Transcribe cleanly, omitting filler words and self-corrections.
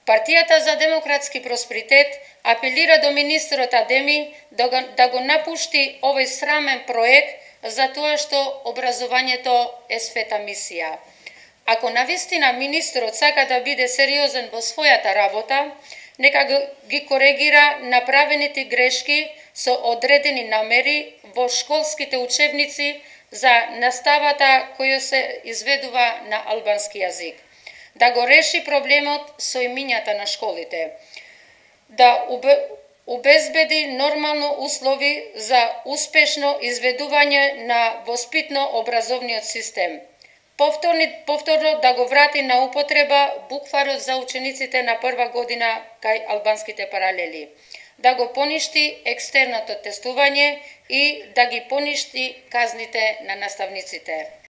Партијата за демократски просперитет апелира до министерот Адеми да го напушти овој срамен проект за тоа што образованието е света мисија. Ако навистина министерот сака да биде сериозен во својата работа, нека ги коригира направените грешки со одредени намери во школските учебници за наставата која се изведува на албански јазик. Да го реши проблемот со имињата на школите. Да обезбеди нормално услови за успешно изведување на воспитно-образовниот систем. Повторно да го врати на употреба букварот за учениците на прва година кај албанските паралели. Да го поништи екстерното тестување и да ги поништи казните на наставниците.